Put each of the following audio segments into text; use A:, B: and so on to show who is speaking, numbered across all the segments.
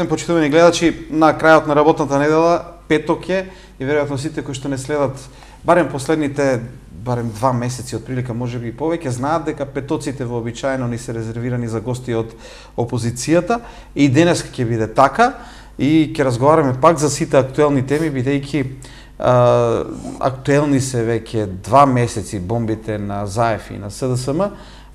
A: ден, почитувани гледачи, на крајот на работната недела, петок е, и веројатно сите кои што не следат барем последните 2 месеци од прилика, можеби и повеќе, знаат дека петоците вообичаено ни се резервирани за гости од опозицијата, и денес ќе биде така, и ќе разговараме пак за сите актуелни теми, бидејќи актуелни се веќе 2 месеци бомбите на ЗАЕФ и на СДСМ,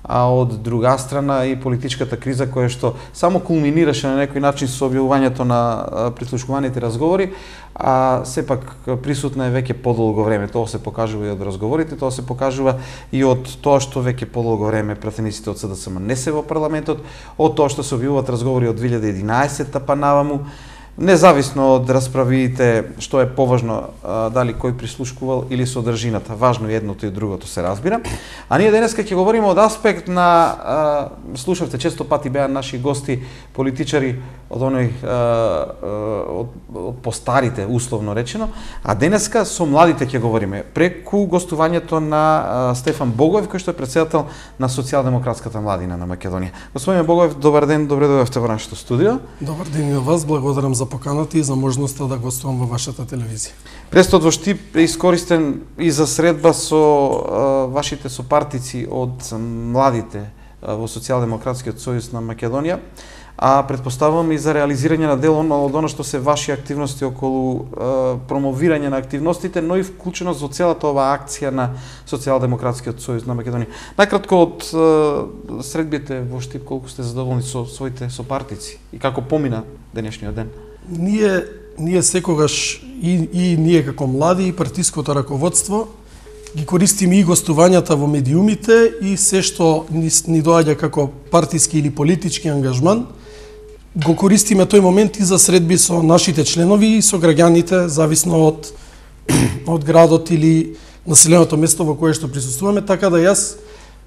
A: а од друга страна и политичката криза која што само кулминираше на некој начин со објавувањето на прислушкуваните разговори, а сепак присутна е веќе подолго време. Тоа се покажува и од разговорите, тоа се покажува и од тоа што веќе подолго време пратениците од СДСМ не се во парламентот, од тоа што се објавуваат разговори од 2011-та па наваму. Независно од расправите што е поважно, дали кој прислушкувал или содржината, важно едното и другото се разбира. А ние денеска ќе говориме од аспект на, слушавте, често пати беа наши гости политичари од оној од постарите, условно речено, а денеска со младите ќе говориме преку гостувањето на Стефан Богоев, кој што е претседател на Социјалдемократската младина на Македонија. Господине Богоев, добар ден, добре дојдовте во нашето студио.
B: Добар ден и на вас, благодарам за поканата и за можноста да гостувам во вашата телевизија.
A: Престот во Штип е искористен и за средба со вашите сопартици од младите во Социјалдемократскиот сојуз на Македонија, а предпоставувам и за реализирање на дел од оно што се ваши активности околу промовирање на активностите, но и вклученост во целата оваа акција на Социјалдемократскиот сојуз на Македонија. Најкратко од средбите во Штип, колку сте задоволни со своите сопартици и како помина денешниот ден?
B: Ние секогаш и ние како млади и партиското раководство ги користиме и гостувањата во медиумите и се што ни доаѓа како партиски или политички ангажман, го користиме тој момент и за средби со нашите членови и со граѓаните, зависно од градот или населеното место во кое што присуствуваме, така да јас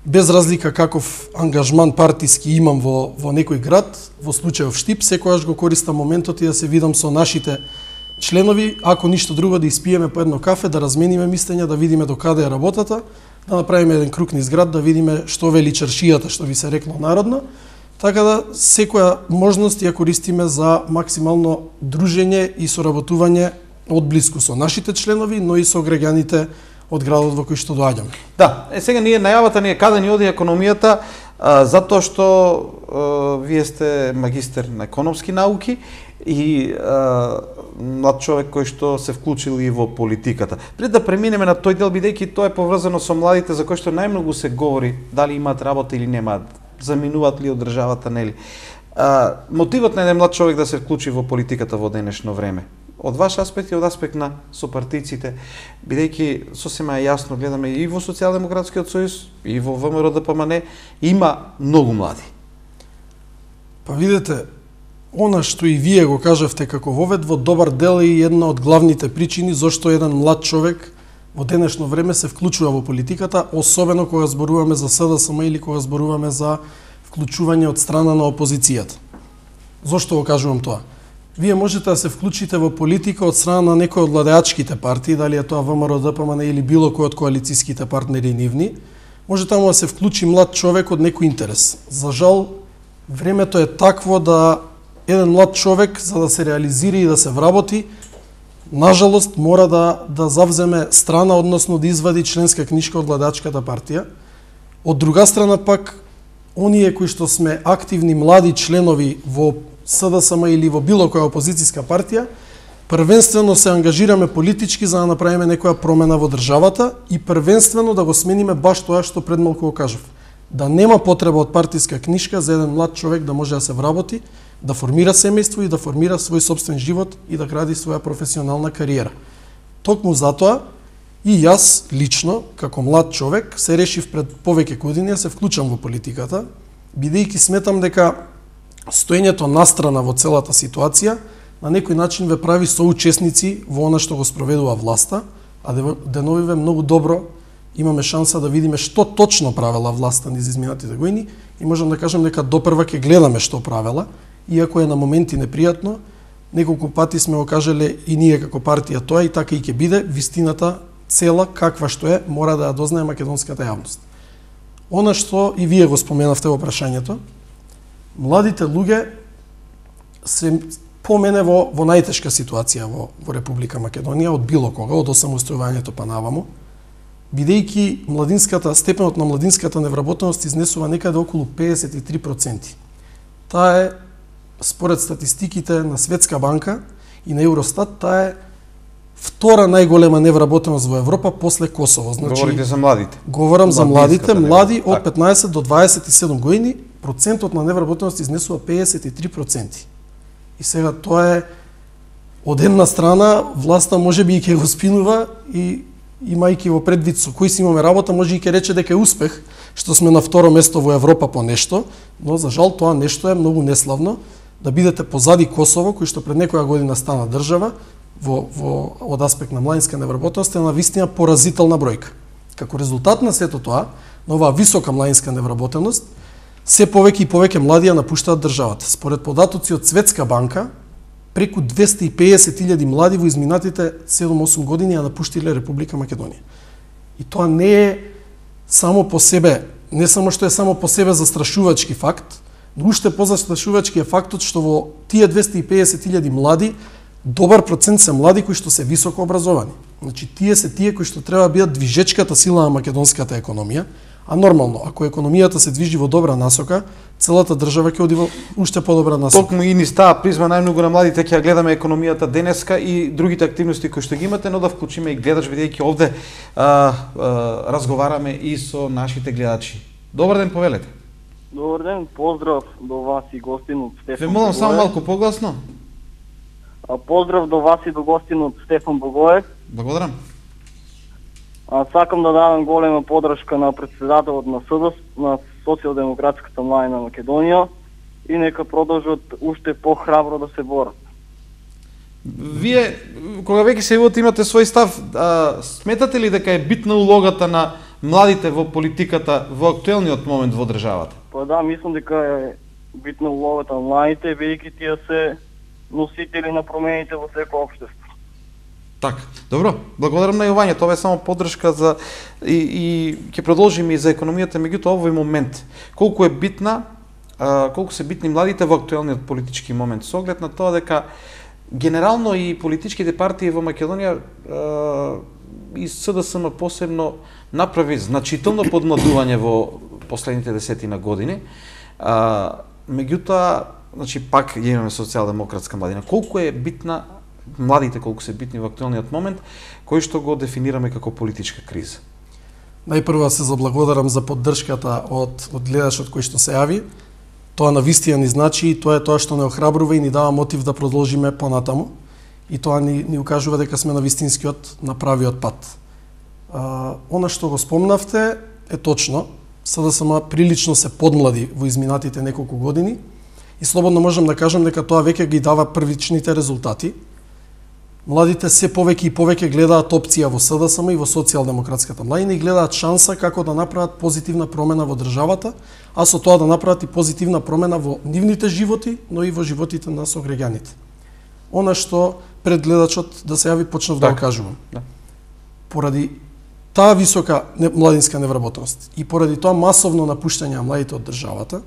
B: без разлика каков ангажман партиски имам во некој град, во случајов Штип, секогаш го користам моментот и да се видам со нашите членови, ако ништо друго да испиеме по едно кафе, да размениме мислења, да видиме до каде е работата, да направиме еден круг низ град, да видиме што вели чаршијата, што би се рекло народно, така да секоја можност ја користиме за максимално дружење и соработување одблиску со нашите членови, но и со граѓаните од градот во кој што доаѓаме.
A: Да, сега најавата ни е каде ни оди економијата, затоа што вие сте магистер на економски науки и млад човек кој што се вклучил и во политиката. Пред да преминеме на тој дел, бидејќи тоа е поврзано со младите за кои што најмногу се говори, дали имаат работа или немаат, заминуваат ли од државата, нели. Мотивот на еден млад човек да се вклучи во политиката во денешно време, од ваш аспект и од аспект на сопартиците, бидејќи сосема јасно гледаме и во Социјалдемократскиот сојуз, и во ВМРО ДПМН, има многу млади.
B: Па видете, она што и вие го кажавте како вовед, во добар дел е и една од главните причини зошто еден млад човек во денешно време се вклучува во политиката, особено кога зборуваме за СДСМ или кога зборуваме за вклучување од страна на опозицијата. Зошто го кажувам тоа? Вие можете да се вклучите во политика од страна на некој од владеачките партии, дали е тоа ВМРО ДПМН или било кој од коалицијските партнери нивни, може таму да се вклучи млад човек од некој интерес. За жал, времето е такво да еден млад човек, за да се реализира и да се вработи, нажалост мора да завземе страна, односно да извади членска книжка од владеачката партија. Од друга страна пак, оние кои што сме активни млади членови во СДСМ или во било која опозицијска партија, првенствено се ангажираме политички за да направиме некоја промена во државата и првенствено да го смениме баш тоа што пред малку го кажав. Да нема потреба од партиска книжка за еден млад човек да може да се вработи, да формира семејство и да формира свој собствен живот и да гради своја професионална кариера. Токму затоа и јас лично, како млад човек, се решив пред повеќе години да се вклучам во политиката, бидејќи сметам дека стоењето настрана во целата ситуација на некој начин ве прави соучесници во она што го спроведува власта, а деновиве многу добро имаме шанса да видиме што точно правела власта низ изминатите години и можам да кажам дека допрва ќе гледаме што правела, иако е на моменти непријатно, неколку пати сме го кажале и ние како партија тоа и така и ќе биде, вистината цела каква што е, мора да ја дознае македонската јавност. Она што и вие го споменавте во прашањето, младите луѓе се по мене во најтешка ситуација во Република Македонија од било кога, од осамостојувањето па наваму, бидејќи степенот на младинската невработеност изнесува некаде околу 53%. Таа е, според статистиките на Светска банка и на Евростат, таа е втора најголема невработеност во Европа после Косово. Значи,
A: говорите за младите?
B: Говорам за младите, млади од 15 до 27 години, процентот на невработеност изнесува 53%. И сега тоа е, од една страна, власта може би и ќе го спинува и имајќи во предвид со кои си имаме работа, може и ќе рече дека е успех, што сме на второ место во Европа по нешто, но за жал тоа нешто е многу неславно, да бидете позади Косово, кој што пред некоја година стана држава, од аспект на младинска невработеност е навистина поразителна бројка. Како резултат на сето тоа, на оваа висока младинска невработеност, се повеќе и повеќе млади ја напуштаат државата. Според податоци од Светска банка, преку 250.000 млади во изминатите 7-8 години ја напуштиле Република Македонија. И тоа не е само по себе, не само што е само по себе застрашувачки факт, но уште позастрашувачки е фактот што во тие 250.000 млади добар процент се млади кои што се високо образовани. Значи тие се тие кои што треба да бидат движечката сила на македонската економија, а нормално, ако економијата се движи во добра насока, целата држава ќе оди во уште подобра насока.
A: Токму и низ таа призма најмногу на младите ќе ја гледаме економијата денеска и другите активности кои што ги имате, но да вклучиме и гледач, бидејќи овде разговараме и со нашите гледачи. Добар ден, повелете.
C: Добар ден, поздрав до вас и гостин од Стефан.
A: Ве молам само малку погласно.
C: Поздрав до вас и до гостин од Стефан Богоев.
A: Благодарам.
C: Сакам да дадам голема подршка на председателот на СДС, на Социјалдемократската младина Македонија и нека продолжат уште похрабро да се борат.
A: Вие, кога веќе се јавувате, имате свој став, сметате ли дека е битна улогата на младите во политиката во актуелниот момент во државата?
C: Па да, мислам дека е битна улогата на младите, бидејќи тие се носители на промените во секој општество.
A: Така, добро, благодарам на јавување, тоа е само поддршка за и ќе продолжиме и за економијата, меѓутоа овој момент колку е битна, колку се битни младите во актуелниот политички момент, со оглед на тоа дека генерално и политичките партии во Македонија и СДСМ посебно направи значително подмладување во последните десетина години. Меѓутоа, значи пак ја имаме социјалдемократска младина. Колку е битна младите, колку се битни во актуелниот момент, кој што го дефинираме како политичка криза?
B: Најпрво се заблагодарам за поддршката од гледачот кој што се јави. Тоа навистина ни значи и тоа е тоа што не охрабрува и ни дава мотив да продолжиме понатаму. И тоа ни укажува дека сме на вистинскиот, на правиот пат. Она што го спомнавте е точно. СДСМ прилично се подмлади во изминатите неколку години и слободно можам да кажам дека тоа веќе ги дава првичните резултати. Младите се повеќе и повеќе гледаат опција во СДСМ и во Социјалдемократската младина и гледаат шанса како да направат позитивна промена во државата, а со тоа да направат и позитивна промена во нивните животи, но и во животите на сограѓаните. Она што пред гледачот да се јави почнав да го кажувам.
A: Да.
B: Поради таа висока младинска невработеност и поради тоа масовно напуштање на младите од државата,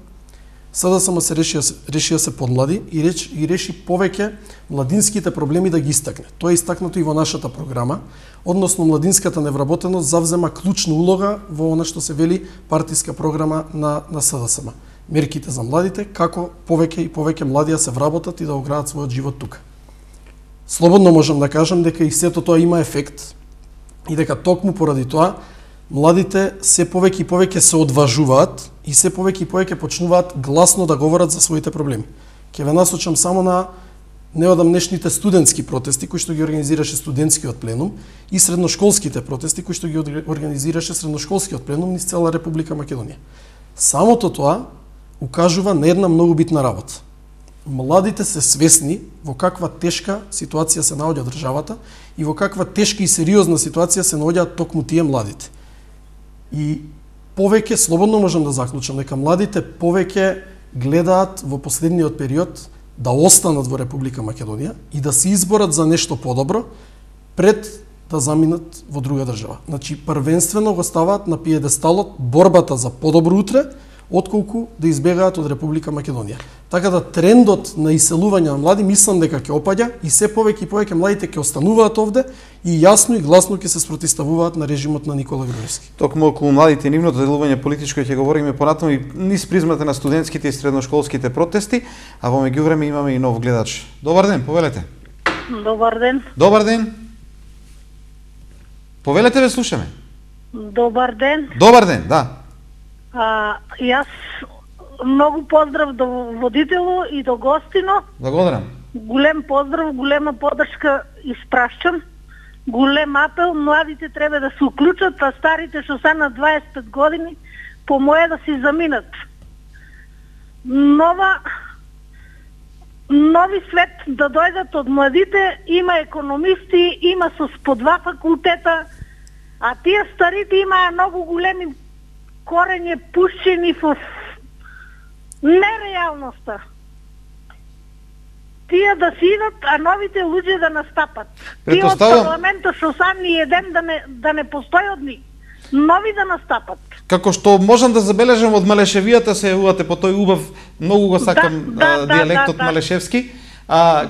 B: СДСМ се реши да се подмлади и реши повеќе младинските проблеми да ги истакне. Тоа е истакнато и во нашата програма, односно младинската невработеност завзема клучна улога во она што се вели партиска програма на СДСМ. Мерките за младите, како повеќе и повеќе млади се вработат и да оградат својот живот тука. Слободно можам да кажам дека и сето тоа има ефект и дека токму поради тоа младите се повеќе и повеќе се одважуваат и се повеќе и повеќе почнуваат гласно да говорат за своите проблеми. Ќе ве насочам само на неодамнешните студентски протести кои што ги организираше студентскиот пленум и средношколските протести кои што ги организираше средношколскиот пленум низ цела Република Македонија. Самото тоа укажува на една многу битна работа. Младите се свесни во каква тешка ситуација се наоѓа државата и во каква тешка и сериозна ситуација се наоѓаат токму тие младите. И повеќе, слободно можам да заклучам, дека младите повеќе гледаат во последниот период да останат во Република Македонија и да се изборат за нешто подобро пред да заминат во друга држава. Значи, првенствено го ставаат на пиедесталот борбата за подобро утре, отколку да избегаат од Република Македонија. Така да трендот на иселување на млади мислам дека ќе опаѓа и се повеќе и повеќе младите ќе остануваат овде и јасно и гласно ќе се спротивставуваат на режимот на Никола Груевски.
A: Токму околу младите и нивното делување политичко ќе говориме понатаму и низ призмата на студентските и средношколските протести, а во меѓувреме имаме и нов гледач. Добар ден, повелете.
D: Добар ден.
A: Добар ден. Повелете, ве слушаме.
D: Добар ден.
A: Добар ден, да.
D: Јас многу поздрав до водителу и до гостино.
A: Благодарам.
D: Голем поздрав, голема поддршка испрашчам. Голем апел, младите треба да се уклучат, а старите што се на 25 години по моje да си заминат. Нови свет да дојдат од младите, има економисти, има со по 2 факултета, а тие старите имаа многу големи корење пушчени во нереалноста. Тие да си идат, а новите луѓе да настапат. Тие од парламентот што са ни еден да не постои од нив. Нови да настапат.
A: Како што можам да забележам од Малешевијата се јавувате по тој убав, многу го сакам диалектот малешевски.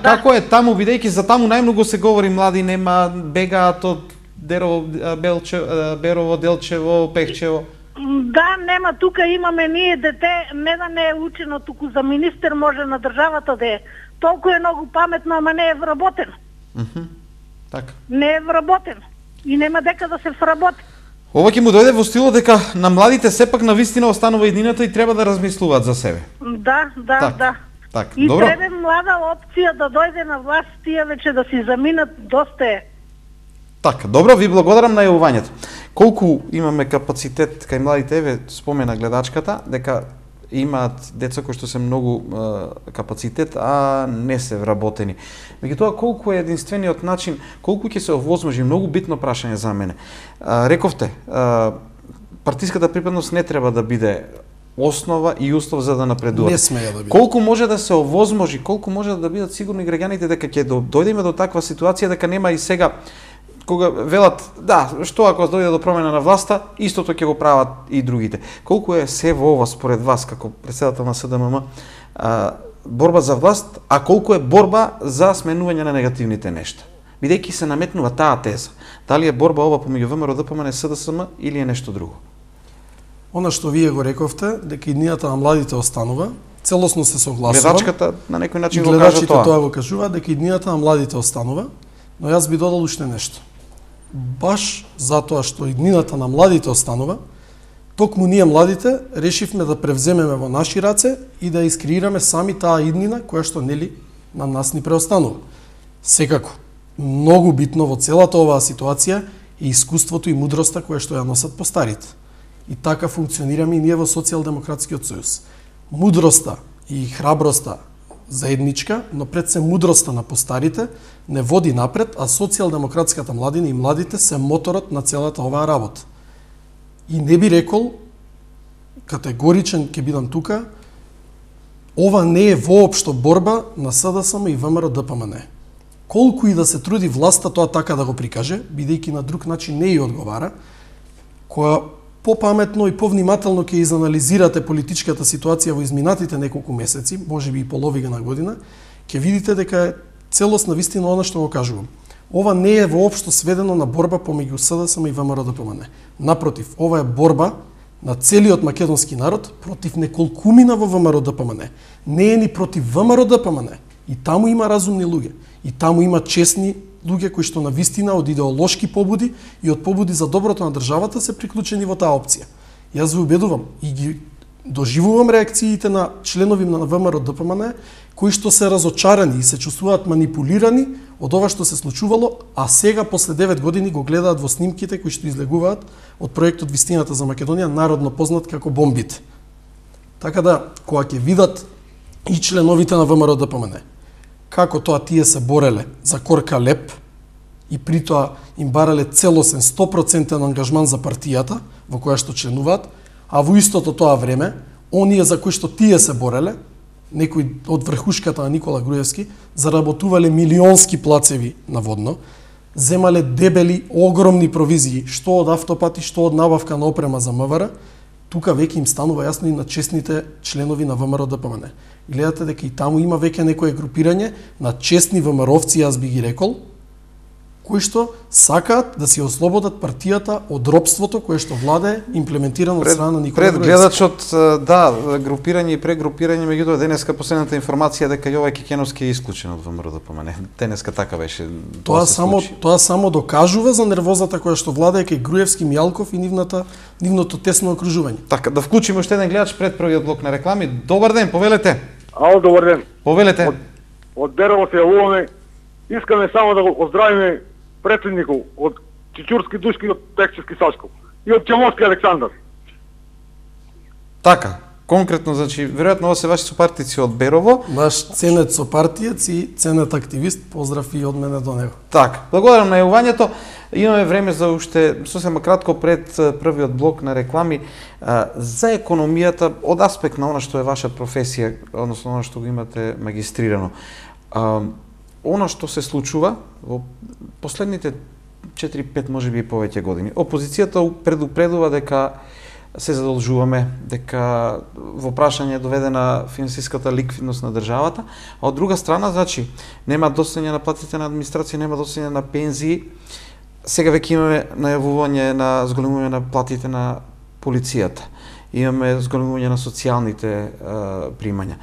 A: Како е таму, бидејќи за таму најмногу се говори, млади нема, бегаат од Берово, Делчево, Пехчево?
D: Да, нема, тука имаме ние дете, не да не е учено, туку за министер може на државата да е. Толку е многу паметно, ама не е вработено.
A: Така.
D: Не е вработено. И нема дека да се вработи.
A: Ова ќе му дојде во стилот дека на младите сепак на вистина останува едината и треба да размислуваат за себе.
D: Да.
A: Так,
D: и
A: добро.
D: треба млада опција да дојде на власт, тие веќе да си заминат, доста е.
A: Така, добро, ви благодарам на јавувањето. Колку имаме капацитет кај младите, еве спомена гледачката, дека имаат деца кои што се многу капацитет, а не се вработени. Меѓутоа, колку е единствениот начин, колку ќе се овозможи, многу битно прашање за мене. Рековте, партиската припадност не треба да биде основа и услов за да напредува.
B: Не смеја да биде.
A: Колку може да се овозможи, колку може да бидат сигурни граѓаните дека ќе дојдеме до таква ситуација, дека нема и сега кога велат, да, што ако дојде до промена на власта, истото ќе го прават и другите. Колку е се во ова според вас, како председател на СДММ, борба за власт, а колку е борба за сменување на негативните нешта? Бидејќи се наметнува таа теза. Дали е борба ова помеѓу ВМРО, ДПМН, СДСМ или е нешто друго?
B: Она што вие го рековте, дека иднината на младите останува, целосно се согласувам.
A: Гледачката на некој начин го кажа тоа.
B: Тоа го кажува, дека иднината на младите останува, но јас би додал уште нешто. Баш затоа што иднината на младите останува, токму ние младите решивме да превземеме во наши раце и да искреираме сами таа иднина која што нели на нас ни преостанува. Секако, многу битно во целата оваа ситуација е искуството и мудроста која што ја носат постарите. И така функционираме и ние во Социјалдемократскиот сојуз. Мудроста и храброста заедничка, но пред се мудроста на постарите не води напред, а социјалдемократската младина и младите се моторот на целата оваа работа. И не би рекол, категоричен ќе бидам тука, ова не е воопшто борба на СДСМ и ВМРО ДПМН. Колку и да се труди власта тоа така да го прикаже, бидејќи на друг начин не ја одговара, која попаметно и повнимателно ќе изанализирате политичката ситуација во изминатите неколку месеци, можеби и половина на година, ќе видите дека е целосна вистина она што го кажувам. Ова не е воопшто сведено на борба помеѓу СДСМ и ВМРО ДПМН. Напротив, ова е борба на целиот македонски народ против неколкумина во ВМРО ДПМН. Не е ни против ВМРО ДПМН. И таму има разумни луѓе. И таму има честни луѓе кои што на вистина од идеолошки побуди и од побуди за доброто на државата се приклучени во таа опција. Јас ви убедувам и ги доживувам реакциите на членови на ВМРО ДПМН кои што се разочарани и се чувствуваат манипулирани од ова што се случувало, а сега после 9 години го гледаат во снимките кои што излегуваат од проектот Вистината за Македонија, народно познат како бомбите. Така да, кога ќе видат и членовите на ВМРО ДПМН како тоа тие се бореле за корка леп и при тоа им барале целосен 100% ангажман за партијата во која што членуваат, а во истото тоа време, оние за кои што тие се бореле, некои од врхушката на Никола Груевски, заработувале милионски плацеви наводно, земале дебели, огромни провизии, што од автопати, што од набавка на опрема за МВР, тука веќе им станува јасно и на честните членови на ВМРО-ДПМН. Гледате дека и таму има веќе некое групирање на честни ВМРО-вци, јас би ги рекол, кои што сакаат да си ослободат партијата од робството кое што владе имплементирано од страна на Никола
A: Груевски. Пред гледачот, да, групирање и прегрупирање, меѓутоа денеска последната информација дека Јовај Кекеновски е исклучен од ВМРО-ДПМН. Денеска така беше.
B: Тоа само докажува за нервозата која што владее кај Груевски, Мијалков и нивното тесно окружување.
A: Така, да вклучиме уште еден гледач пред првиот блок на реклами. Добар ден, повелете.
E: Ало, добар ден.
A: Повелете.
E: Од Берово се јавуваме. Искаме само да го оздравиме председников од Чичурски Душки и од Пекчевски Сашков и од Чемовски Александар.
A: Така, конкретно, значи, веројатно ова се ваши сопартици од Берово.
B: Наш ценет сопартиец и ценет активист, поздрав и од мене до него.
A: Така, благодарам на јавувањето. Имаме време за уште сосема кратко пред првиот блок на реклами за економијата од аспект на она што е ваша професија, односно она што го имате магистрирано. Она што се случува во последните 4-5 можеби и повеќе години. Опозицијата предупредува дека се задолжуваме, дека во прашање е доведена финансиската ликвидност на државата, а од друга страна, значи, нема достојање на платите на администрација, нема достојање на пензии. Сега веќе имаме најавување на зголемување на платите на полицијата. Имаме зголемување на социјалните примања.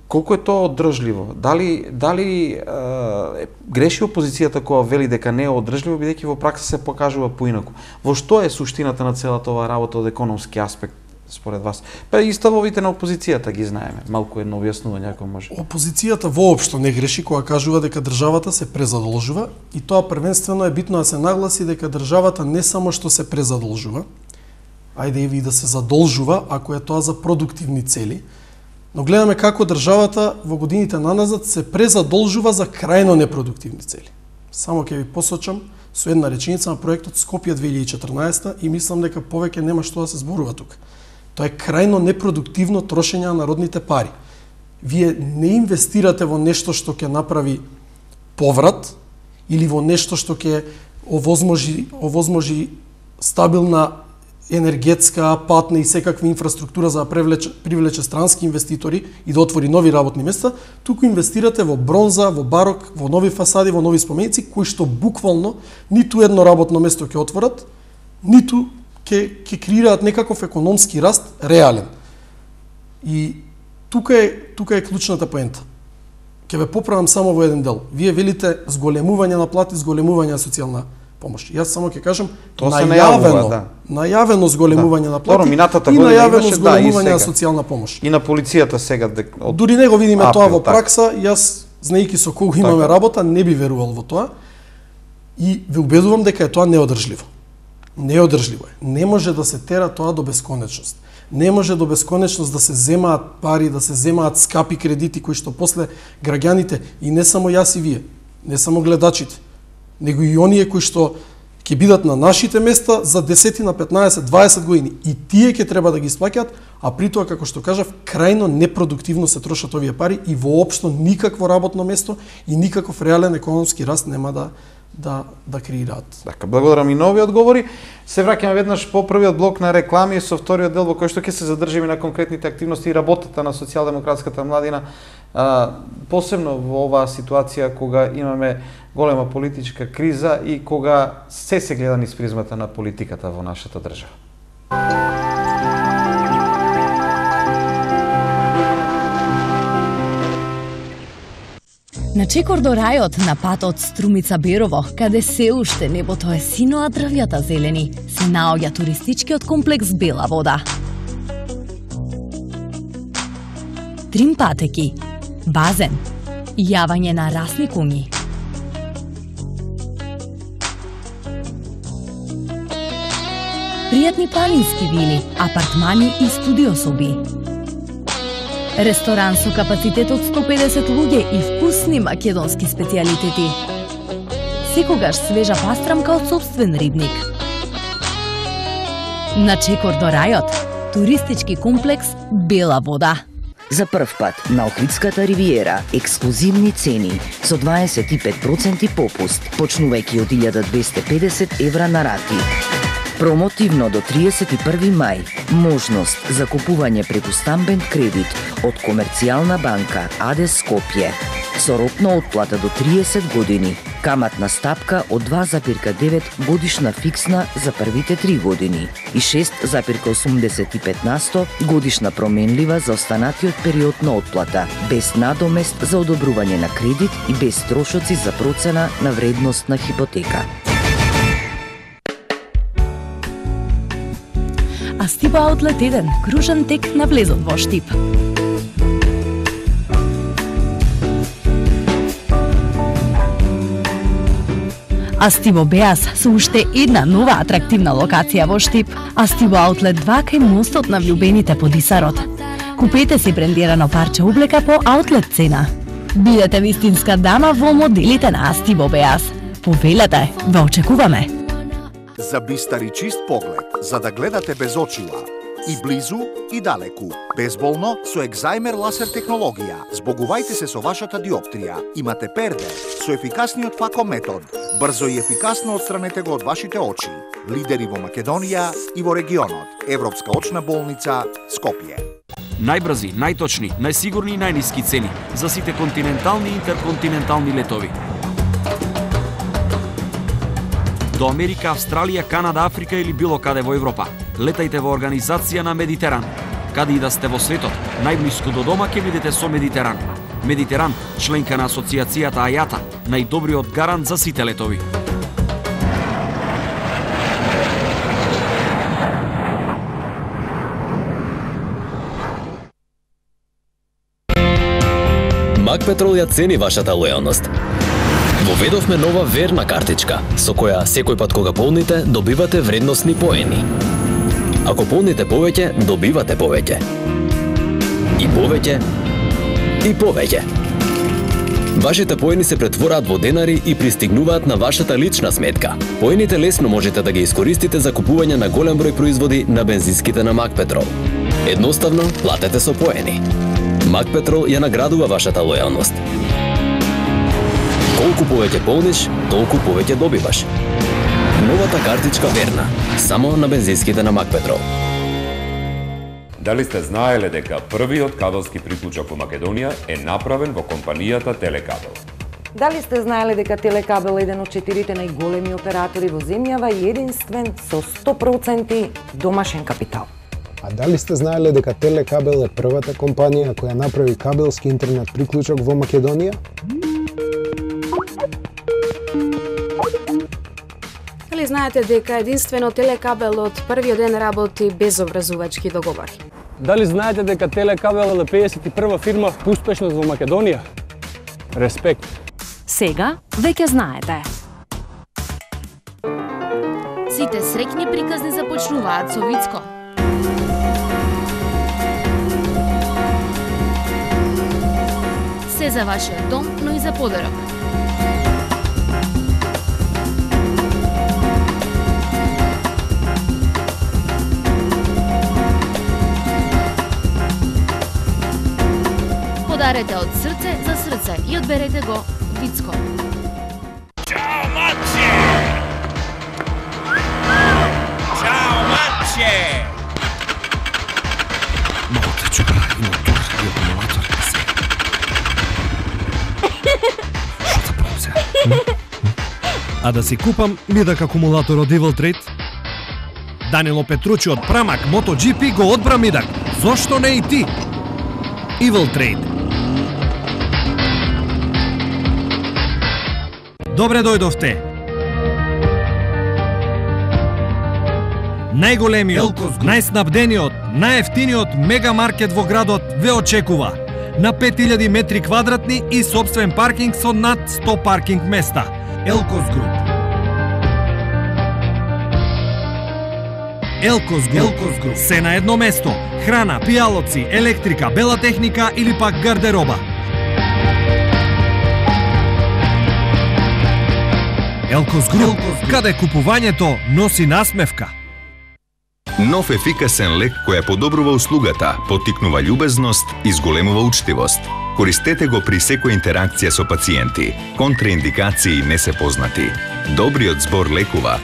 A: Колку е тоа одржливо? Дали греши опозицијата која вели дека не е одржливо, бидејќи во пракса се покажува поинаку? Во што е суштината на целата оваа работа од економски аспект според вас? Па и ставовите на опозицијата ги знаеме. Малку едно објаснување ако може.
B: Опозицијата воопшто не греши кога кажува дека државата се презадолжува и тоа првенствено е битно да се нагласи дека државата не само што се презадолжува, ајде и да се задолжува ако е тоа за продуктивни цели, но гледаме како државата во годините наназад се презадолжува за крајно непродуктивни цели. Само ќе ви посочам со една реченица на проектот Скопје 2014 и мислам дека повеќе нема што да се зборува тука. Тоа е крајно непродуктивно трошење на народните пари. Вие не инвестирате во нешто што ќе направи поврат или во нешто што ќе овозможи стабилна енергетска, патна и секаква инфраструктура за да привлече странски инвеститори и да отвори нови работни места, туку инвестирате во бронза, во барок, во нови фасади, во нови споменици, кои што буквално ниту едно работно место ќе отворат, ниту ќе креираат некаков економски раст реален. И тука е клучната поента. Ќе ве поправам само во еден дел. Вие велите зголемување на плати, зголемување на социјална помош. Јас само ќе кажам најавено зголемување на плати и најавено зголемување на социјална помош.
A: И на полицијата сега
B: дури не го видиме тоа во пракса, јас знаејќи со колку имаме работа, не би верувал во тоа и ве убедувам дека е тоа неодржливо. Неодржливо е. Не може да се тера тоа до бесконечност. Не може до бесконечност да се земаат пари, да се земаат скапи кредити кои што после граѓаните и не само јас и вие, не само гледачите, него и оние кои што ќе бидат на нашите места за 10 на 15, 20 години и тие ќе треба да ги исплаќаат, а при тоа како што кажав, крајно непродуктивно се трошат овие пари и воопшто никакво работно место и никаков реален економски раст нема да креираат.
A: Така, благодарам и нови одговори. Се враќаме веднаш по првиот блок на реклами со вториот дел во кој што ќе се задржиме на конкретните активности и работата на социјалдемократската младина, посебно во оваа ситуација кога имаме голема политичка криза и кога се гледа низ призмата на политиката во нашата држава.
F: На чекор до рајот на патот Струмица-Берово, каде се уште небото е сино, а дрвјата зелени, се наоѓа туристичкиот комплекс Бела вода. Трим патеки, базен, јавање на расни куњи. Пријатни планински вили, апартмани и студиособи. Ресторан со капацитет од 150 луѓе и вкусни македонски специјалитети. Секогаш свежа пастрамка од сопствен рибник. На чекор до рајот, туристички комплекс Бела вода.
G: За прв пат на Охридската ривиера ексклузивни цени со 25% попуст, почнувајќи од 1250 евра на рати. Промотивно до 31 мај. Можност за купување преку стамбен кредит од Комерцијална банка АД Скопје. Со рок на отплата до 30 години. Каматна стапка од 2,9 годишна фиксна за првите 3 години и 6,85% годишна променлива за останатиот период на отплата, без надомест за одобрување на кредит и без трошоци за процена на вредност на хипотека.
F: Астиба Аутлет 1, кружен тек на влезот во Штип. Астибо Беас со уште една нова атрактивна локација во Штип. Астибо Аутлет 2 кај мостот на влюбените по Дисарот. Купете си брендирано парче облека по аутлет цена. Бидете вистинска дама во моделите на Астибо Беас. Повелете, ве очекуваме.
H: За бистар и чист поглед, за да гледате без очила. И близу, и далеку. Безболно со Екзајмер ласер технологија. Збогувајте се со вашата диоптрија. Имате перде со ефикасниот фако метод. Брзо и ефикасно отстранете го од вашите очи. Лидери во Македонија и во регионот. Европска очна болница Скопје.
I: Најбрзи, најточни, најсигурни и најниски цени за сите континентални и интерконтинентални летови. До Америка, Австралија, Канада, Африка или било каде во Европа. Летајте во организација на Медитеран. Каде и да сте во светот, најблиску до дома ќе бидете со Медитеран. Медитеран, членка на асоциацијата АЈАТА, најдобриот гарант за сите летови.
J: Макпетрол ја цени вашата лојалност. Воведовме нова верна картичка, со која секој пат кога полните, добивате вредносни поени. Ако полните повеќе, добивате повеќе. И повеќе, и повеќе. Вашите поени се претвораат во денари и пристигнуваат на вашата лична сметка. Поените лесно можете да ги искористите за купување на голем број производи на бензинските на Макпетрол. Едноставно, платете со поени. Макпетрол ја наградува вашата лојалност. Колку повеќе полниш, толку повеќе добиваш. Новата картичка верна, само на бензинските на Макпетрол.
K: Дали сте знаеле дека првиот кабелски приклучок во Македонија е направен во компанијата Телекабел?
L: Дали сте знаеле дека Телекабел е еден од 4 најголеми оператори во земјава и единствен со 100% домашен капитал?
M: А дали сте знаеле дека Телекабел е првата компанија која направи кабелски интернет приклучок во Македонија?
N: Дали знаете дека единствено Телекабел од првиот ден работи без образувачки договори?
O: Дали знаете дека Телекабел е 51 фирма по успешност во Македонија? Респект.
P: Сега веќе знаете.
Q: Сите среќни приказни започнуваат со Вицко. Се за вашиот дом, но и за подарок. Подарете од срце за срце и одберете го Вицко.
R: Чао, маче! Чао, маче!
S: Малата чука и мотор и акумулатор се. Што да правам сега?
T: А да си купам мидак акумулатор од Evil Trade? Данило Петручи од Прамак MotoGP го одбра мидак. Зошто не и ти? Evil Trade. Добре дојдовте. Најголемиот, најснабдениот, најефтиниот мегамаркет во градот ве очекува. На 5000 метри квадратни и собствен паркинг со над 100 паркинг места. Елкос Груп. Елкос Груп. Се на едно место. Храна, пијалоци, електрика, бела техника или пак гардероба. Елкос Груп, каде купувањето носи насмевка.
U: Нов ефикасен лек која подобрува услугата, поттикнува љубезност и зголемува учтивост. Користете го при секоја интеракција со пациенти. Контраиндикации не се познати. Добриот збор лекува.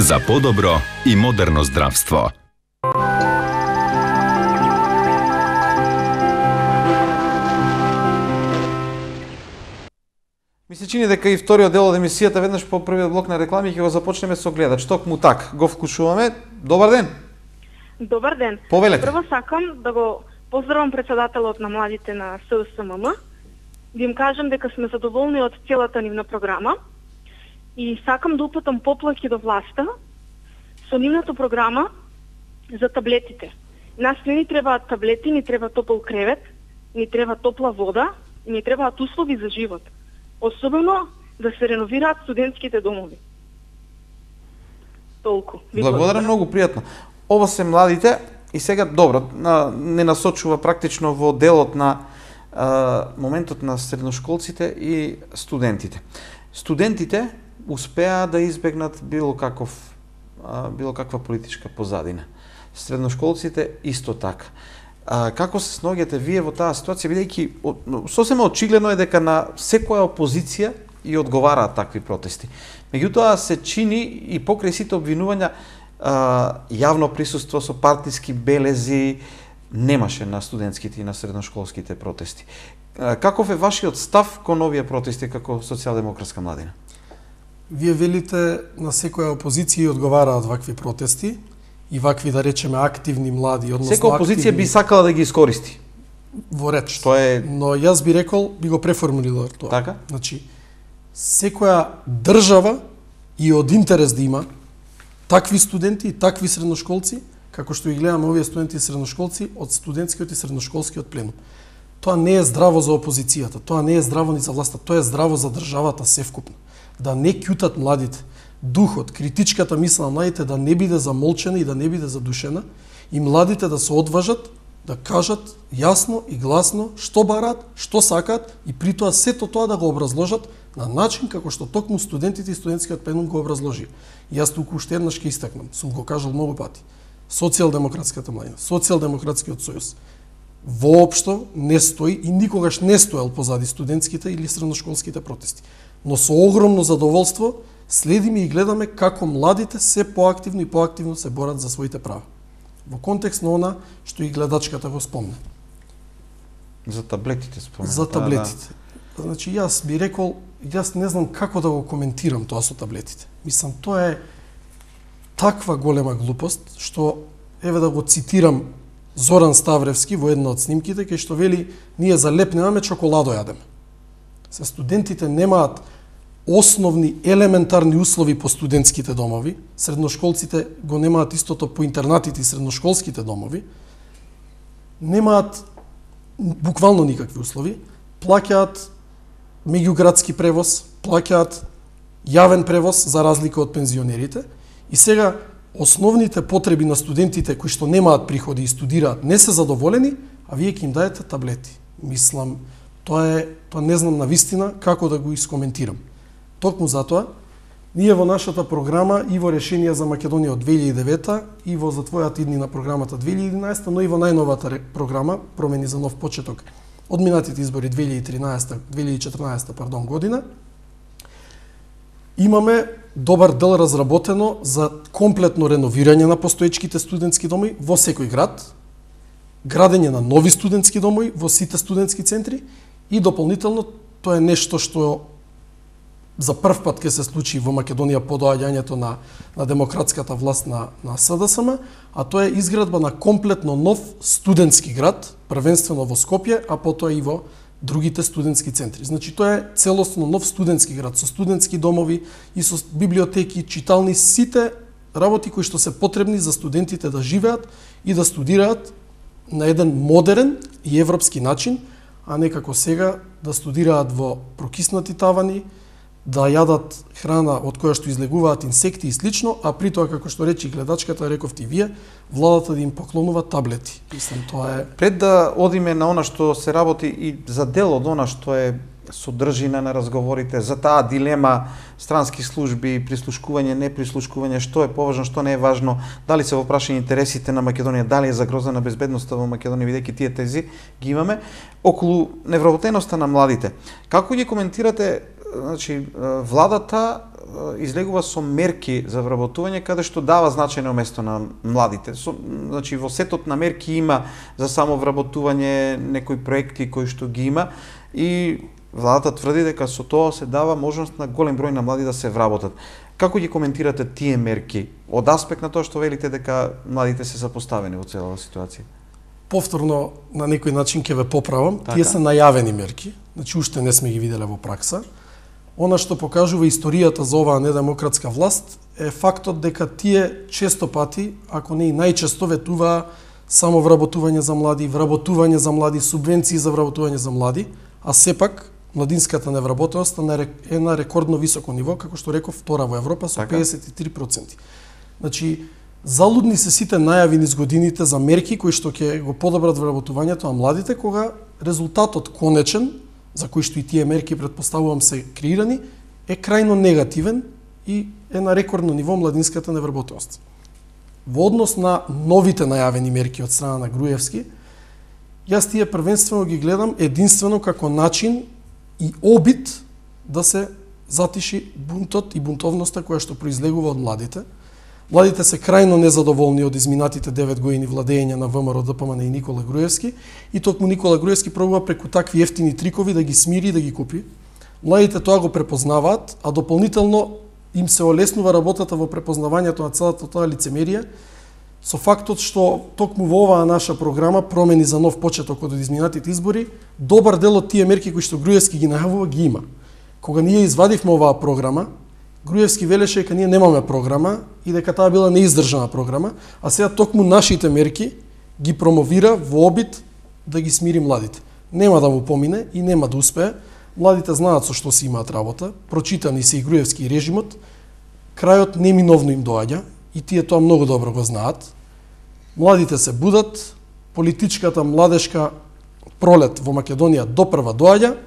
U: за подобро и модерно здравство.
A: Ми се чини дека и вториот дел од емисијата веднаш по првиот блок на реклами ќе го започнеме со гледач. Токму так, го вклучуваме. Добар ден.
C: Добар ден.
A: Повелете.
C: Прво сакам да го поздравам председателот на младите на СДСМ. Да им кажам дека сме задоволни од целата нивна програма и сакам да упатам поплаки до власта со нивната програма за таблетите. Нас не ни требаат таблети, ни треба топол кревет, ни треба топла вода и ни требаат услови за живот. Особено да се реновираат студентските домови. Толку.
A: Благодарам, многу пријатно. Ова се младите и сега добро, не насочува практично во делот на моментот на средношколците и студентите. Студентите успеа да избегнат било каква политичка позадина. Средношколците исто така. Како се сноѓате вие во таа ситуација, бидејќи сосема очигледно е дека на секоја опозиција и одговараат такви протести. Меѓутоа се чини и покрај сите обвинувања јавно присуство со партиски белези немаше на студентските и на средношколските протести. Каков е вашиот став кон овие протести како социјалдемократска младина?
B: Вие велите на секоја опозиција одговараат вакви протести и вакви, да речеме, активни млади, односно
A: секоја опозиција би сакала да ги искористи.
B: Во реч.
A: Тоа
B: Но јас би рекол, би го преформулирал тоа.
A: Така?
B: Значи, секоја држава и од интерес да има такви студенти и такви средношколци, како што ги гледаме овие студенти и средношколци од студентскиот и средношколскиот пленум. Тоа не е здраво за опозицијата, тоа не е здраво ни за власта, тоа е здраво за државата севкупно. Да не кјутат младите. Духот, критичката мисла на младите да не биде замолчена и да не биде задушена и младите да се одважат да кажат јасно и гласно што бараат, што сакаат и при тоа сето тоа да го образложат на начин како што токму студентите и студентскиот пленум го образложи. И јас туку уште еднаш ќе истакнам, сум го кажал многу пати. Социјалдемократската младина, Социјалдемократскиот сојуз воопшто не стои и никогаш не стоел позади студентските или средношколските протести. Но со огромно задоволство следиме и гледаме како младите се поактивно и поактивно се борат за своите права. Во контекст на она што и гледачката го спомна.
A: За таблетите спомна.
B: За таблетите. Значи јас би рекол, јас не знам како да го коментирам тоа со таблетите. Мислам, тоа е таква голема глупост што, еве да го цитирам Зоран Ставревски во една од снимките, кај што вели, ние за леп немаме, чоколадо јадеме. Се студентите немаат основни елементарни услови по студентските домови, средношколците го немаат истото по интернатите и средношколските домови, немаат буквално никакви услови, плаќаат меѓуградски превоз, плаќаат јавен превоз за разлика од пензионерите и сега основните потреби на студентите кои што немаат приходи и студираат не се задоволени, а вие ќе им даете таблети. Мислам, тоа не знам на вистина како да го искоментирам. Токму затоа, ние во нашата програма и во решение за Македонија од 2009 и во затвојата идни на програмата 2011, но и во најновата програма Промени за нов почеток од минатите избори 2014 година, имаме добар дел разработено за комплетно реновирање на постоечките студентски доми во секој град, градење на нови студентски домови во сите студентски центри и дополнително тоа е нешто што за прв пат ќе се случи во Македонија по доаѓањето на демократската власт на СДСМ, а тоа е изградба на комплетно нов студентски град, првенствено во Скопје, а потоа и во другите студентски центри. Значи тоа е целосно нов студентски град со студентски домови и со библиотеки, читални, сите работи кои што се потребни за студентите да живеат и да студираат на еден модерен и европски начин, а не како сега да студираат во прокиснати тавани, да јадат храна од која што излегуваат инсекти и слично, а при тоа, како што речи гледачката, рековте и вие, владата да им поклонува таблети. Мислам, тоа е...
A: Пред да одиме на она што се работи и за дел од она што е содржина на разговорите, за таа дилема странски служби, прислушкување, не прислушкување, што е поважно, што не е важно, дали се во прашање интересите на Македонија, дали е загрозена безбедноста во Македонија, бидејќи тие тези ги имаме, околу невработеноста на младите. Како ги коментирате, значи, владата излегува со мерки за вработување каде што дава значајно место на младите. Значи, во сетот на мерки има за само вработување некои проекти кои што ги има и владата тврди дека со тоа се дава можност на голем број на млади да се вработат. Како ги коментирате тие мерки од аспект на тоа што велите дека младите се запоставени во целава ситуација?
B: Повторно на некој начин ќе ве поправам, тие се најавени мерки, значи уште не сме ги виделе во пракса. Она што покажува историјата за оваа недемократска власт е фактот дека тие често пати, ако не и најчесто, ветуваа само вработување за млади, субвенции за вработување за млади, а сепак младинската невработеност е на рекордно високо ниво, како што реков, втора во Европа со 53%. Значи, залудни се сите најави низ годините за мерки кои што ќе го подобрат вработувањето на младите, кога резултатот конечен, за кои што и тие мерки претпоставувам се креирани, е крајно негативен и е на рекордно ниво младинската невработеност. Во однос на новите најавени мерки од страна на Груевски, јас тие првенствено ги гледам единствено како начин и обид да се затиши бунтот и бунтовноста која што произлегува од младите. Младите се крајно незадоволни од изминатите 9 години владење на ВМРО, ДПМН и Никола Груевски, и токму Никола Груевски пробува преку такви ефтини трикови да ги смири и да ги купи. Младите тоа го препознаваат, а дополнително им се олеснува работата во препознавањето на целата тоа лицемерие, со фактот што токму во оваа наша програма Промени за нов почеток од изминатите избори, добар дел од тие мерки кои што Груевски ги најавува ги има. Кога ние извадивме оваа програма, Груевски велеше дека ние немаме програма и дека таа била неиздржана програма, а сега токму нашите мерки ги промовира во обид да ги смири младите. Нема да му помине и нема да успее. Младите знаат со што си имаат работа, прочитани се и Груевски и режимот, крајот неминовно им доаѓа и тие тоа многу добро го знаат. Младите се будат, политичката младешка пролет во Македонија допрва доаѓа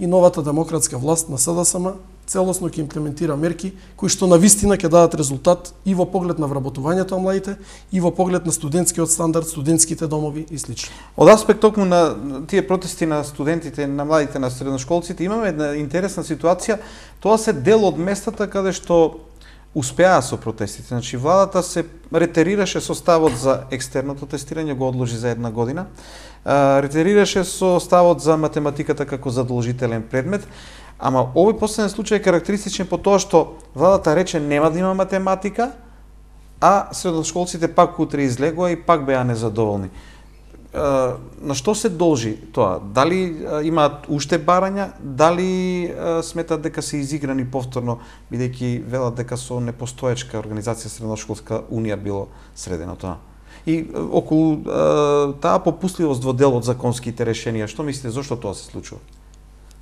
B: и новата демократска власт на СДСМ целосно ќе имплементира мерки кои што навистина ќе дадат резултат и во поглед на вработувањето на младите, и во поглед на студентскиот стандард, студентските домови и слично.
A: Од аспект токму на тие протести на студентите, на младите, на средношколците, имаме една интересна ситуација. Тоа се дел од местата каде што успеа со протестите. Значи, владата се ретерираше со ставот за екстерното тестирање, го одложи за една година. Ретерираше со ставот за математиката како задолжителен предмет. Ама овој последен случај е карактеристичен по тоа што владата рече нема да има математика, а средношколците пак утре излегоа и пак беа незадоволни. На што се должи тоа? Дали имаат уште барања, дали сметат дека се изиграни повторно, бидејќи велат дека со непостоечка организација Средношколска унија било средено тоа? И околу таа попустливост во дел од законските решенија, што мислите, зошто тоа се случува?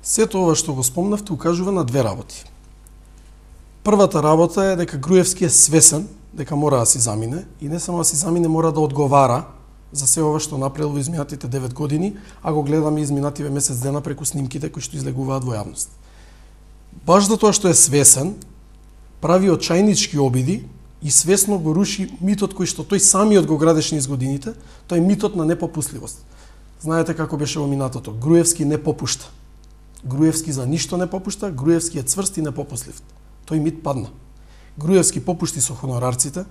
B: Сето ова што го спомнавте укажува на две работи. Првата работа е дека Груевски е свесен дека мора да си замине и не само да си замине, мора да одговара за се ова што направил во изминатите 9 години, а го гледаме изминативе месец дена преку снимките кои што излегуваат во јавност. Баш за тоа што е свесен, прави очајнички обиди и свесно го руши митот кој што тој самиот го градеше низ годините, тој митот на непопустливост. Знаете како беше во минатото, Груевски не попушта. Груевски за ништо не попушта, Груевски е цврст и непопуслив. Тој мит падна. Груевски попушти со хонорарците,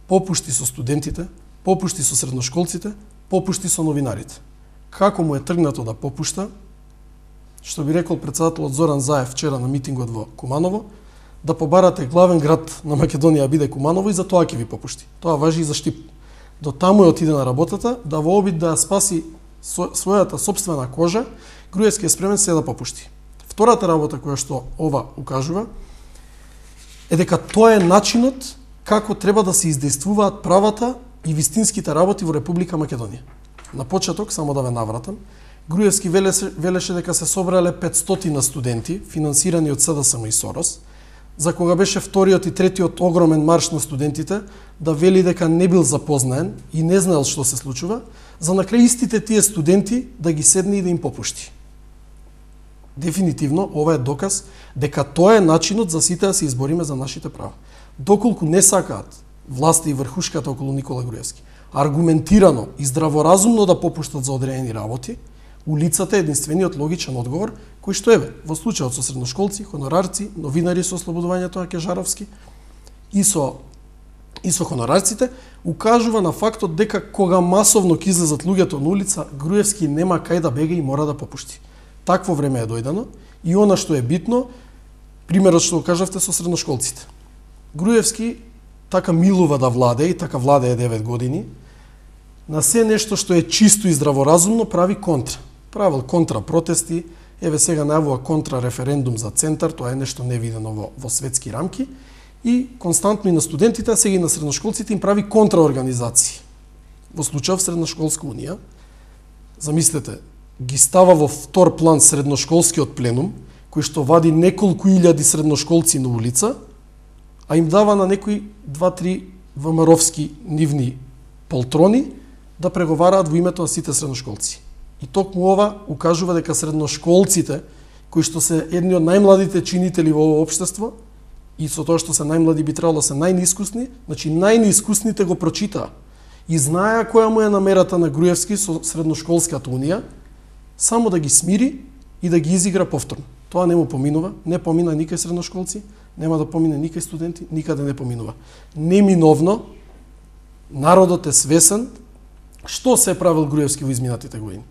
B: попушти со студентите, попушти со средношколците, попушти со новинарите. Како му е тргнато да попушта, што би рекол председателот Зоран Заев вчера на митингот во Куманово, да побарате главен град на Македонија биде Куманово и за тоа ќе ви попушти. Тоа важи и за Штип. До таму е отиде на работата, да во обид да спаси својата сопствена кожа, Груевски е спремен се да попушти. Втората работа која што ова укажува е дека тоа е начинот како треба да се издействуваат правата и вистинските работи во Република Македонија. На почеток, само да ве навратам, Груевски велеше дека се собрале 500 студенти, финансирани од СДСМ и Сорос, за кога беше вториот и третиот огромен марш на студентите, да вели дека не бил запознаен и не знаел што се случува, за на крај истите тие студенти да ги седне и да им попушти. Дефинитивно, ова е доказ дека тоа е начинот за сите да се избориме за нашите права. Доколку не сакаат власта и врхушката околу Никола Груевски аргументирано и здраворазумно да попуштат за одредени работи, улицата е единствениот логичен одговор, кој што еве, во случајот со средношколци, хонорарци, новинари со ослободувањето на Кежаровски и со хонорарците, укажува на фактот дека кога масовно ќе излезат луѓето на улица, Груевски нема кај да бега и мора да попушти. Такво време е дојдено и она што е битно, примерот што го кажавте со средношколците. Груевски така милува да владее и така владее 9 години, на се нешто што е чисто и здраворазумно прави контра. Правил контра протести, еве сега најавува контра референдум за центар, тоа е нешто невидено во светски рамки, и константно и на студентите, а сега и на средношколците им прави контраорганизации. Во случајов Средношколска унија, замислете, ги става во втор план средношколскиот пленум, кој што вади неколку илјади средношколци на улица, а им дава на некои 2-3 ВМРО-вски нивни полтрони да преговараат во името на сите средношколци. И токму ова укажува дека средношколците, кои што се едни од најмладите чинители во ова општество, и со тоа што се најмлади би требало да се најнеискусни, значи најнеискусните го прочитаа и знаеа која му е намерата на Груевски со Средношколската унија, само да ги смири и да ги изигра повторно. Тоа не му поминува, не помина никај средношколци, нема да помине никај студенти, никаде не поминува. Неминовно, народот е свесен што се правил Груевски во изминатите години.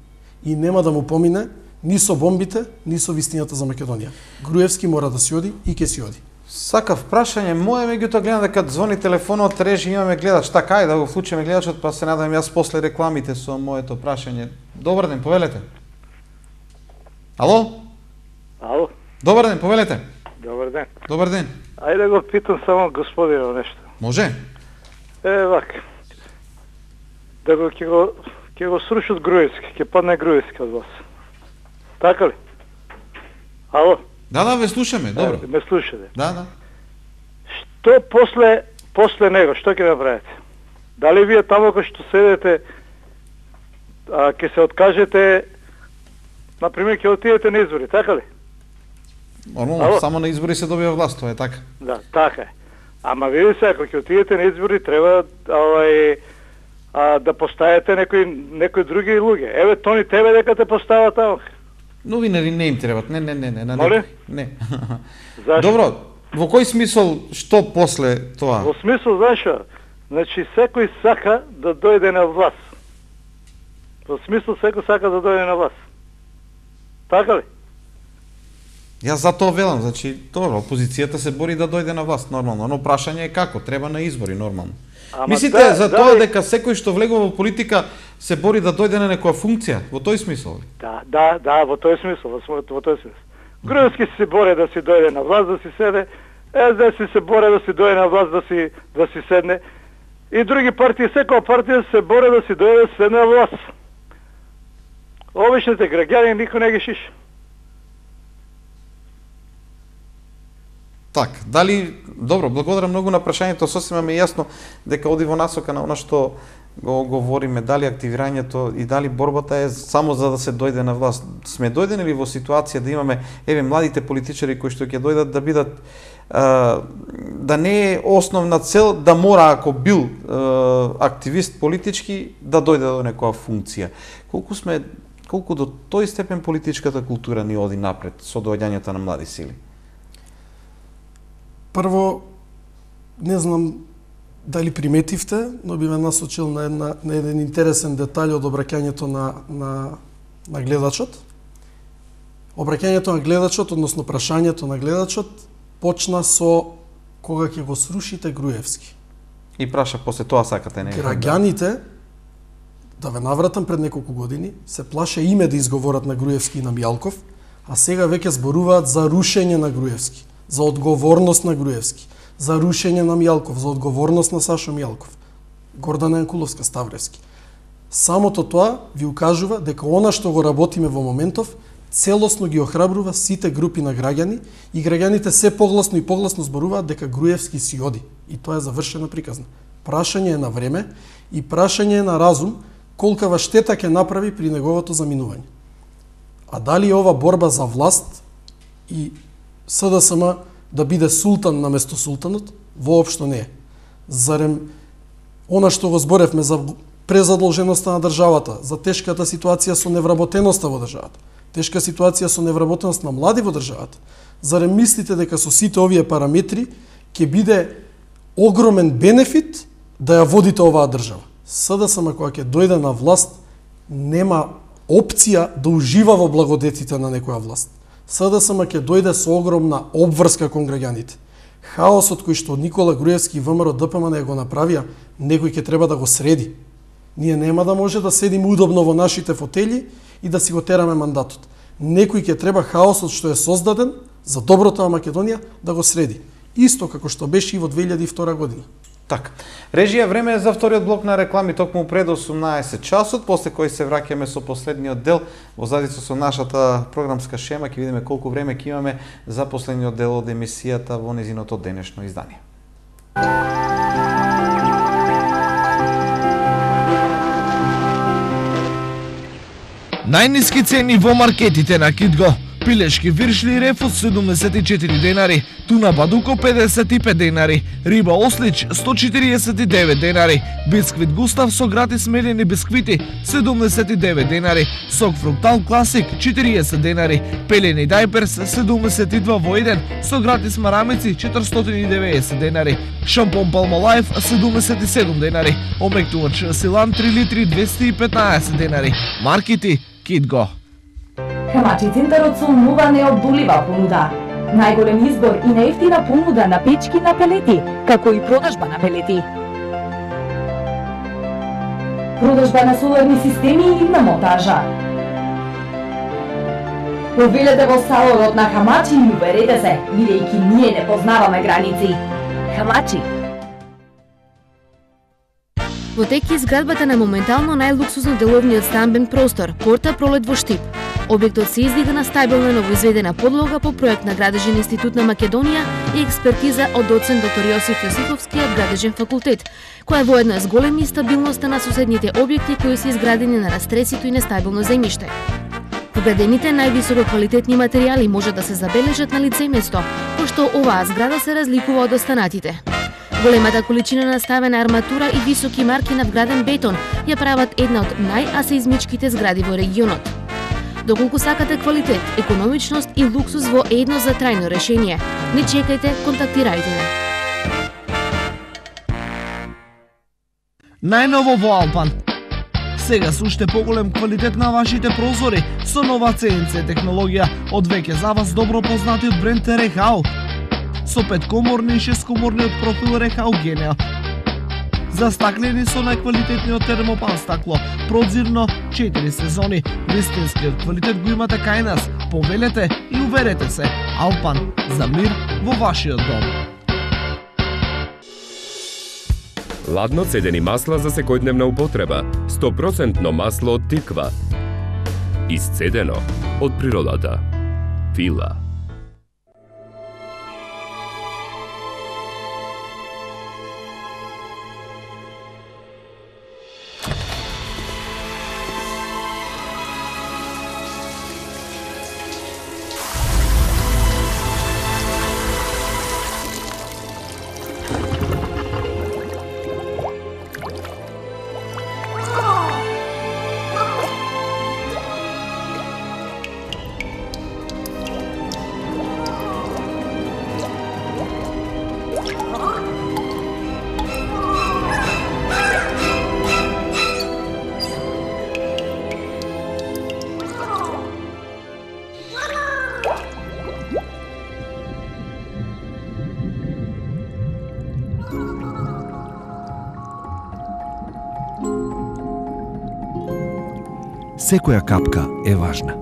B: И нема да му помине ни со бомбите, ни со вистината за Македонија. Груевски мора да си оди и ќе си оди.
A: Сакав прашање мое, меѓутоа гледам дека звони телефонот, режи, имаме гледач. Така, ајде да го вклучиме гледачот, па се надам јас после рекламите со моето прашање. Добар ден, повелете. Ало?
D: Ало?
A: Добар ден, повелете.
D: Добар ден.
A: Добар ден.
D: Ајде го питам само господинот нешто.
A: Може?
D: Вака. Да го ќе го срушат Груевски, ќе падне Груевски од вас. Така ли? Ало?
A: Да, ве слушаме, добро.
D: Ме слушате.
A: Да.
D: Што после него, што ќе направите? Дали вие таму кога што седете, ќе се откажете, например, ќе отидете на избори, така ли?
A: Нормално, само на избори се добива власт, тоа е така.
D: Да, така е. Ама види се, ако ќе отидете на избори, треба да поставите некои други луѓе. Еве, Тони, тебе дека те постават таму.
A: Новинари не им требат, не.
D: Моле?
A: Не.
D: Зашто?
A: Добро, во кој смисол, што после тоа?
D: Во смисол, зашо? Значи, секој сака да дојде на власт. Во смисол, секој сака да дојде на власт. Така ли?
A: Јас затоа велам, значи, добро, опозицијата се бори да дојде на власт, нормално, но прашање е како, треба на избори, нормално. Мислите за тоа дека секој што влегува во политика се бори да дојде на некоја функција, во тој смисол?
D: Да, во тој смисол, во тој смисол. Груевски се бори да си дојде на власт, да си седе, СДС се бори да си дојде на власт, да си седне, и други партии, секоја партија се бори да си дојде да си седне на власт. Обичните граѓани никој не ги шиша.
A: Так, дали, добро, благодарам многу на прашањето, сосема ми е јасно дека оди во насока на она што го говориме, дали активирањето и дали борбата е само за да се дојде на власт. Сме дојдени ли во ситуација да имаме, еве, младите политичари кои што ќе дојдат да бидат, да не е основна цел да мора, ако бил активист политички, да дојде до некоја функција. Колку до тој степен политичката култура ни оди напред со доаѓањето на млади сили?
B: Прво, не знам дали приметивте, но би ме насочил на еден интересен детаљ од обраќањето на гледачот. Обраќањето на гледачот, односно прашањето на гледачот, почна со кога ќе го срушите Груевски.
A: И праша после тоа сакате него.
B: Граѓаните, да ве навратам пред неколку години, се плаше име да изговорат на Груевски и на Мјалков, а сега веќе зборуваат за рушење на Груевски, за одговорност на Груевски, за рушење на Мјалков, за одговорност на Сашо Мјалков, Гордана Јанкуловска, Ставревски. Самото тоа ви укажува дека она што го работиме во моментов, целосно ги охрабрува сите групи на граѓани и граѓаните се погласно и погласно зборуваат дека Груевски си оди. И тоа е завршена приказна. Прашање е на време и прашање е на разум колкава штета ќе направи при неговото заминување. А дали е ова борба за власт и СДСМ да биде султан наместо султанот? Воопшто не е. Зарем она што го зборевме за презадолженоста на државата, за тешката ситуација со невработеноста во државата, тешка ситуација со невработеност на млади во државата, зарем мислите дека со сите овие параметри ќе биде огромен бенефит да ја водите оваа држава? СДСМ кога ќе дојде на власт, нема опција да ужива во благодетите на некоја власт. СДСМ ќе дојде со огромна обврска кон граѓаните. Хаосот кој што Никола Груевски и ВМРО ДПМН го направија, некој ќе треба да го среди. Ние нема да може да седиме удобно во нашите фотели и да си го тераме мандатот. Некој ќе треба хаосот што е создаден за доброто на Македонија да го среди. Исто како што беше и во 2002 година.
A: Така. Режија, време е за вториот блок на реклами токму пред 18 часот, после кој се враќаме со последниот дел во задица со нашата програмска шема, ќе видиме колку време ќе имаме за последниот дел од емисијата во незиното денешно издание.
T: Најниски цени во маркетите на Кидго. Пилешки виршли рефус 74 денари, туна бадуко 55 денари, риба ослич 149 денари, бисквит Густав со гратис мелени бисквити 79 денари, сок фруктал класик 40 денари, пелени дајперс 72 во 1 со гратис марамици 490 денари, шампон Palmolive 77 денари, омектувач Силан 3 литри 215 денари. Маркити Кидго.
F: Хамачи центарот со нова необдолива понуда. Најголем избор и најевтина понуда на печки на пелети, како и продажба на пелети. Продажба на соларни системи и на монтажа. Повелете во салонот на Хамачи и уверете се, бидејќи ние не познаваме граници. Хамачи.
N: Во тек е изградбата на моментално најлуксузно деловниот стамбен простор, Порта Пролет во Штип. Објектот се издига на стабилна новоизведена подлога по проект на Градежен институт на Македонија и експертиза од доцент доктор Јосиф Јосифовскиот Градежен факултет, која воедно е с големи стабилноста на соседните објекти кои се изградени на растресито и нестабилно земјиште. Вградените највисоко квалитетни материјали може да се забележат на лице место, пошто оваа зграда се разликува од останатите. Големата количина наставена арматура и високи марки на вграден бетон ја прават една од најасеизмичките згради во регионот. Доколку сакате квалитет, економичност и луксус во едно за трајно решение, не чекајте, контактирајте не.
T: Најново во Алпан. Сега со уште поголем квалитет на вашите прозори со нова CNC технологија од веќе за вас добро познатиот бренд Рехау со 5-коморни и 6-коморниот профил Рехау Генео. Застаклени со најквалитетниот термопан стакло, прозирно 4 сезони. Вистинскиот квалитет го имате кај нас. Повелете и уверете се. Алпан, за мир во вашиот дом.
K: Ладно цедени масла за секојдневна употреба. 100% масло од тиква. Исцедено од природата. Фила.
T: Секоја капка е важна.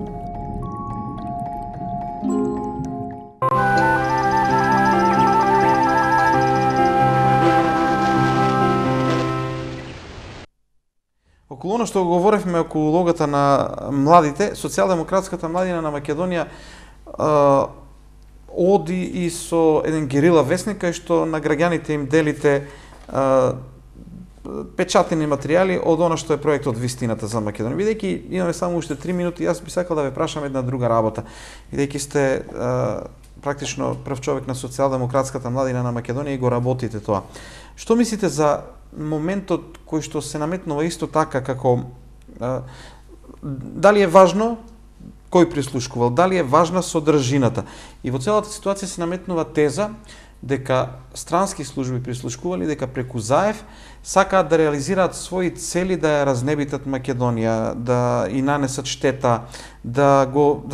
A: Околу оно што говоревме околу улогата на младите, социјалдемократската младина на Македонија оди и со еден герила вестник кај што на граѓаните им делите печатени материјали од она што е проектот Вистината за Македонија. Бидејќи имаме само уште 3 минути, јас би сакал да ве прашам една друга работа. Бидејќи сте практично прв човек на социјалдемократската младина на Македонија и го работите тоа. Што мислите за моментот кој што се наметнува исто така како дали е важно кој прислушкувал, дали е важна содржината? И во целата ситуација се наметнува теза дека странски служби прислушкували, дека преку Заев сакаат да реализираат своји цели, да ја разнебитат Македонија, да и нанесат штета, да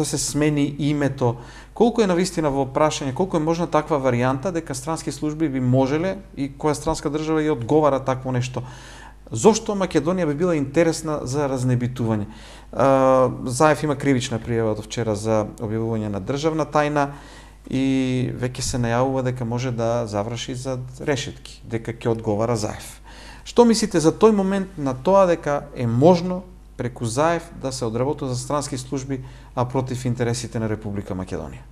A: се смени името. Колку е навистина во прашање, колку е можна таква варијанта дека странски служби би можеле и која странска држава ја одговара такво нешто? Зошто Македонија би била интересна за разнебитување? Заев има кривична пријава од вчера за објавување на државна тајна и веќе се најавува дека може да заврши за решетки, дека ќе одговара Заев. Што мислите за тој момент на тоа дека е можно преку Заев да се одработува за странски служби, а против интересите на Република Македонија?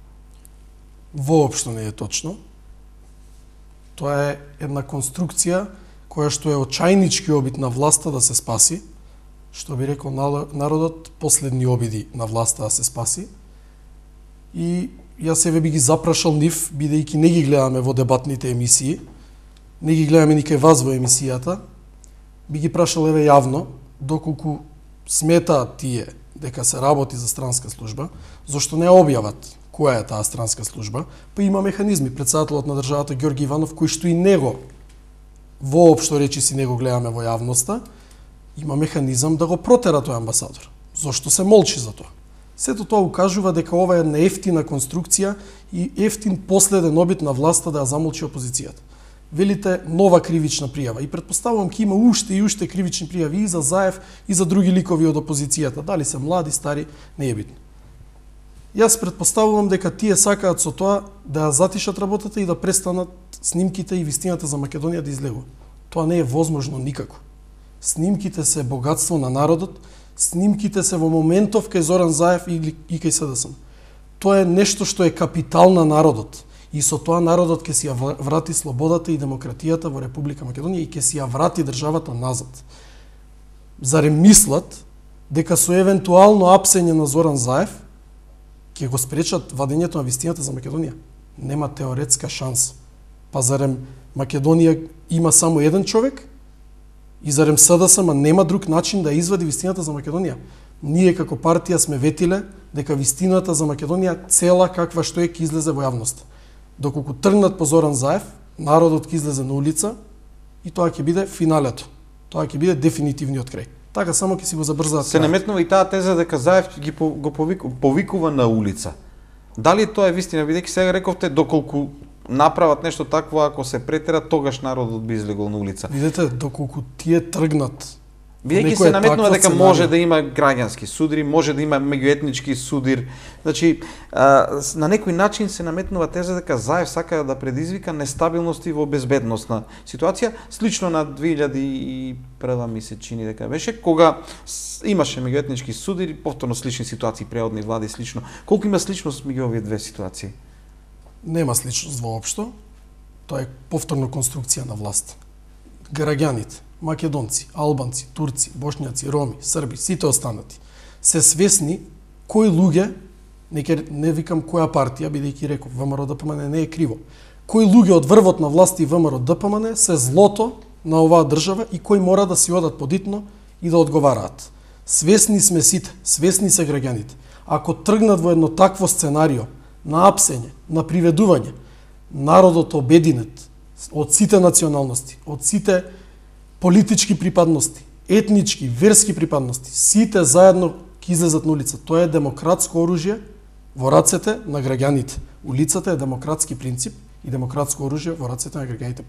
B: Воопшто не е точно. Тоа е една конструкција која што е очајнички обид на власта да се спаси, што би рекол народот, последни обиди на власта да се спаси. И јас себе би ги запрашал нив, бидејќи не ги гледаме во дебатните емисии, не ги гледаме никај вас во емисијата, би ги прашал еве јавно, доколку сметаат тие дека се работи за странска служба, зашто не објават која е таа странска служба, па има механизми. Претседателот на државата Ѓорги Иванов, кој што и него воопшто речиси не го гледаме во јавноста, има механизам да го протера тој амбасадор. Зошто се молчи за тоа? Сето тоа укажува дека ова е една ефтина конструкција и ефтин последен обид на власта да ја замолчи опозицијата. Велите нова кривична пријава и претпоставувам ќе има уште и уште кривични пријави и за Заев и за други ликови од опозицијата, дали се млади, стари, не е битно. Јас претпоставувам дека тие сакаат со тоа да ја затишат работата и да престанат снимките и вистината за Македонија да излегува. Тоа не е возможно никако. Снимките се богатство на народот, снимките се во моментов кај Зоран Заев и кај СДСМ. Тоа е нешто што е капитал на народот. И со тоа народот ќе си ја врати слободата и демократијата во Република Македонија и ќе си ја врати државата назад. Зарем мислат дека со евентуално апсење на Зоран Заев ќе го спречат вадењето на вистината за Македонија? Нема теоретска шанса. Па зарем Македонија има само еден човек? И зарем СДСМ нема друг начин да извади вистината за Македонија? Ние како партија сме ветиле дека вистината за Македонија цела каква што е ќе излезе во јавноста. Доколку тргнат по Зоран Заев, народот ќе излезе на улица и тоа ќе биде финалето. Тоа ќе биде дефинитивниот крај. Така само ќе си го забрзаат.
A: Се наметнува и таа теза дека Заев го повикува на улица. Дали тоа е вистина, бидејќи сега рековте доколку направат нешто такво, ако се претера, тогаш народот би излегол на улица.
B: Видете, доколку тие тргнат.
A: Бидејќи се наметнува дека може да има граѓански судири, може да има меѓуетнички судир. Значи, на некој начин се наметнува теза дека Заев сака да предизвика нестабилност и во безбедносна ситуација, слично на 2001 ми се чини дека беше, кога имаше меѓуетнички судири, повторно слични ситуации, преодни влади слично. Колку има сличност меѓу овие две ситуации?
B: Нема сличност воопшто. Тоа е повторно конструкција на власт. Граѓаните, македонци, албанци, турци, бошњаци, роми, срби, сите останати, се свесни кои луѓе, не викам која партија, бидејќи реков, ВМРО ДПМН не е криво, кои луѓе од врвот на власт и ВМРО ДПМН се злото на оваа држава и кои мора да си одат подитно и да одговараат. Свесни сме сите, свесни се граѓаните. Ако тргнат во едно такво сценарио, на апсење, на приведување, народот обединет од сите националности, од сите политички припадности, етнички, верски припадности, сите заедно ќе излезат на улица. Тоа е демократско оружје во рацете на граѓаните. Улицата е демократски принцип и демократско оружје во рацете на граѓаните,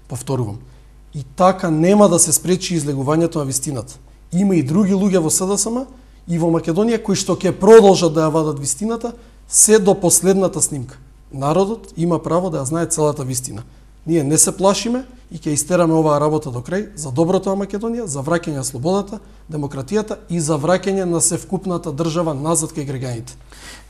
B: повторувам. И така нема да се спречи излегувањето на вистината. Има и други луѓе во СДСМ и во Македонија кои што ќе продолжат да ја вадат вистината се до последната снимка. Народот има право да ја знае целата вистина. Ние не се плашиме и ќе истераме оваа работа до крај за доброто на Македонија, за враќање на слободата, демократијата и за враќање на севкупната држава назад кај граѓаните.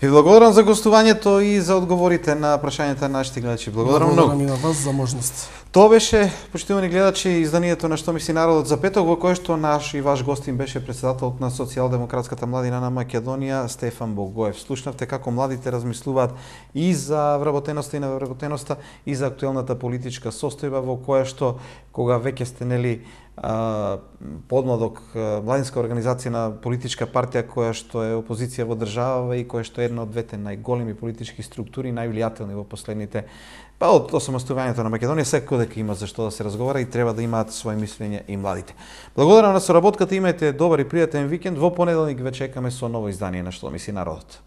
A: Ви благодарам за гостувањето и за одговорите на прашањата на нашите гледачи. Благодарам многу.
B: Благодарам и на вас за можност.
A: Тоа беше, почитувани гледачи, изданието на Што мисли народот за петок, во кое што наш и ваш гостин беше председателот на Социјалдемократската младина на Македонија, Стефан Богоев. Слушнавте како младите размислуваат и за вработеноста и невработеноста и за актуелната политичка состојба во која што кога веќе сте нели подмладок младинска организација на политичка партија која што е опозиција во државава и која што е една од двете најголеми политички структури, највлијателни во последните од осамостувањето на Македонија, секој дека има за што да се разговара и треба да имаат своје мислење и младите. Благодарам на соработката, имајте добар и пријатен викенд. Во понеделник ве чекаме со ново издание на Што мисли народот.